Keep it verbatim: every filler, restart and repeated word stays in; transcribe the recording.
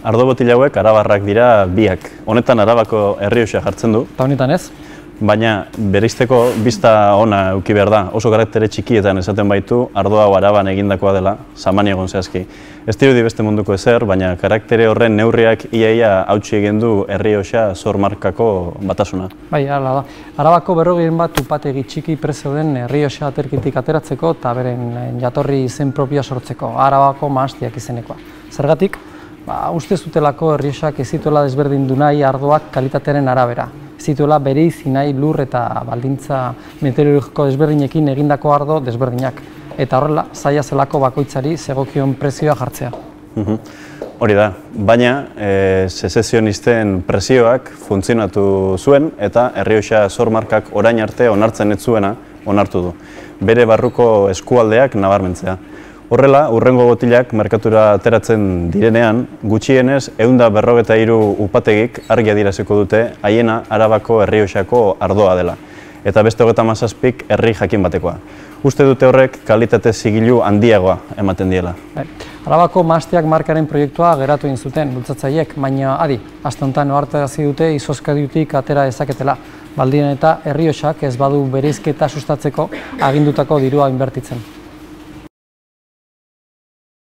Ardo botila hauek arabarrak dira biak. Honetan Arabako Errioxa jartzen du. Eta honetan ez? Baina bereizteko bizta ona eduki behar da. Oso karaktere txikietan esaten baitu ardo hau Araban egindakoa dela, Samaniagon zehazki. Ez dirudi beste munduko ezer, baina karaktere horren neurriak iaia hautsi egin du Errioxa Sor markako batasuna. Bai, hala da. Arabako berrogeien bat upategi txiki prezio den Errioxa aterkitik ateratzeko eta beren jatorri izen propioa sortzeko, Arabako Mahastiak izenekoa. Zergatik? Ba, uste zutelako Errioxak ez zituela desberdindu nahi ardoak kalitatearen arabera. Ez zituela bereizi nahi lur eta baldintza meteorologiko desberdinekin egindako ardo desberdinak. Eta horrela, zaila zelako bakoitzari zegokion prezioa jartzea. Hori da, baina e, sezessionisten presioak funtzionatu zuen eta Errioxa Sor markak orain arte onartzen ez zuena onartu du. Bere barruko eskualdeak nabarmentzea. Horrela, hurrengo botilak merkatura ateratzen direnean, gutxienez ehun eta berrogeita hiru upategik argi adieraziko dute haiena Arabako Errioxako ardoa dela. Eta beste hogeita hamazazpik herri jakin batekoa. Uste dute horrek kalitate zigilu handiagoa ematen diela. Arabako Mahastiak markaren proiektua geratu egin zuten bultzatzaileek, baina adi, aste honetan ohartarazi dute izozkadiutik atera dezaketela. Baldin eta Errioxak ez badu bereizketa sustatzeko agindutako dirua inbertitzen.